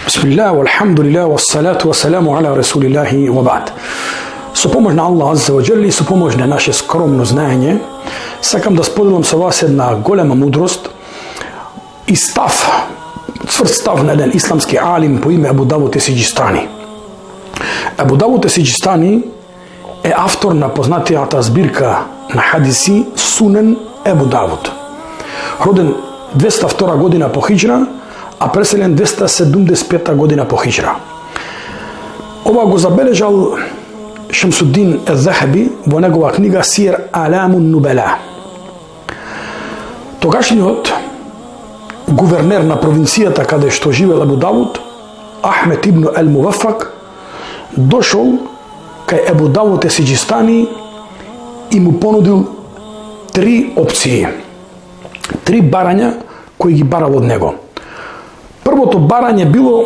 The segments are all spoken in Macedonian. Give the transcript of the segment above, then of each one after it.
Bismillah, walhamdulillah, wassalatu wassalamu ala rasulillahi wa ba'd. Со помош на Аллах Азza wa Jalla и со помош на наше скромно знаење, сакам да споделам со вас една голема мудрост и став, цврст став на еден исламски алим по име Абу Давуд Есиџистани. Абу Давуд Есиџистани е автор на познатијата збирка на хадиси Сунен Абу Давуд. Роден 202 година по хиџра, а преселен 275 година по хиџра. Ова го забележал Шамсуддин ел-Захаби во негова книга Сир Аламун Нубала. Тогашниот гувернер на провинцијата каде што живел Абу Давуд, Ахмед ибн ел-Мувафак, дошол кај Абу Давуд Есиџистани и му понудил три опции, три барања кои ги барал од него. Првото барање било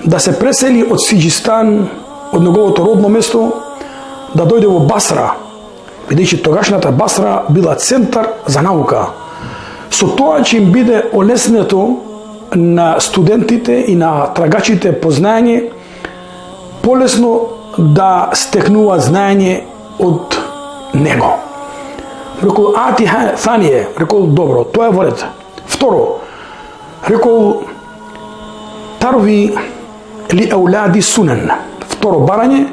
да се пресели од Сиџистан, од неговото родно место, да дојде во Басра, бидејќи тогашната Басра била центар за наука. Со тоа ќе им биде олеснето на студентите и на трагачите по знаење полесно да стекнуваат знаење од него. Рекол, Thaniye, рекол, добро, тоа е во ред. Второ, рекол, Тарви ли аулади Сунен. Второ барање,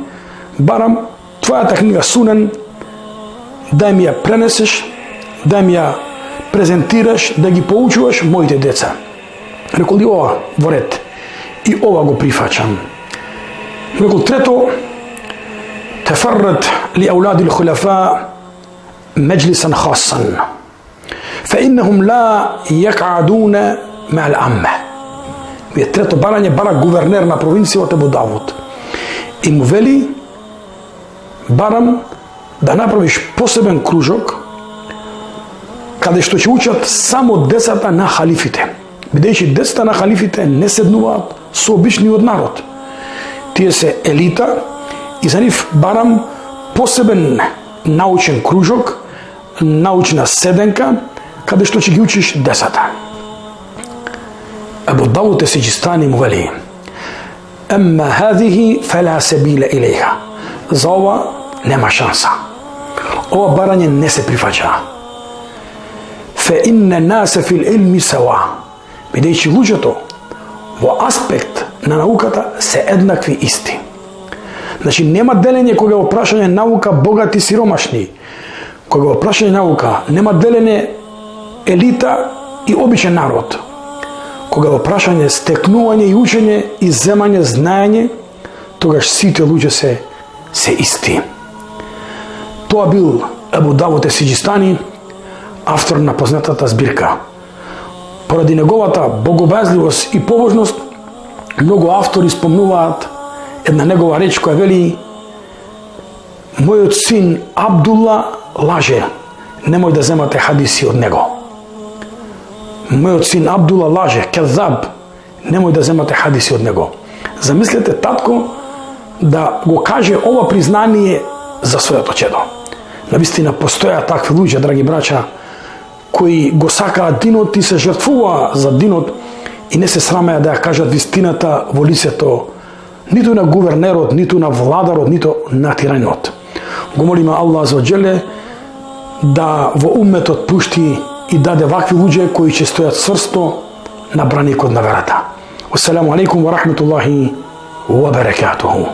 барам твојата книга Сунен, да ми ја пренесеш, да ми ја презентираш, да ги поучуваш моите деца. Рекол, и ова во ред, и ова го прифачам. Рекол, трето, тефаррат ли аулади l-хулафа مجلسا خاصا فإنهم لا يقعدون مع العامة. Трето барање бара гувернер на провинцијата Абу Давуд. И му вели, барам да направиш посебен кружок каде што ќе учат само децата на халифите. Бидејќи децата на халифите не седнуваат со обичниот народ. Тие се елита и за нив барам посебен научен кружок, научна седенка, каде што ќе ги учиш децата. Абу Давуд Есиџистани му вели, Емма хазихи фела себиле илејха. За ова нема шанса. Ова барање не се прифаќа. Фе инне насе фил илми сава. Бидејќи луѓето во аспект на науката се еднакви исти. Значи нема делење кога во прашање наука богати сиромашни. Кога во прашање наука нема делење елита и обичен народ. Кога во прашање стекнување и учење и земање знаење, тогаш сите луѓе се исти. Тоа бил Абу Давуд Есиџистани, автор на познатата збирка. Поради неговата богобазливост и побожност, многу автори спомнуваат една негова реч која вели: мојот син Абдулла лаже, немој да земате хадиси од него. Мојот син Абдулла лаже, кезаб, немој да земате хадиси од него. Замислете татко да го каже ова признание за своето чедо. Навистина постоја такви луѓе, драги брача, кои го сакаат динот и се жртвува за динот и не се срамеа да ја кажат вистината во лицето ниту на гувернерот, ниту на владарот, ниту на тираниот. Го молиме Аллах Азza wa Jalla да во умметот пушти и даде вакви луѓе кои ќе стојат цврсто на браникот на верата. Ассаламу алейкум ва рахметуллахи ва баракатуху.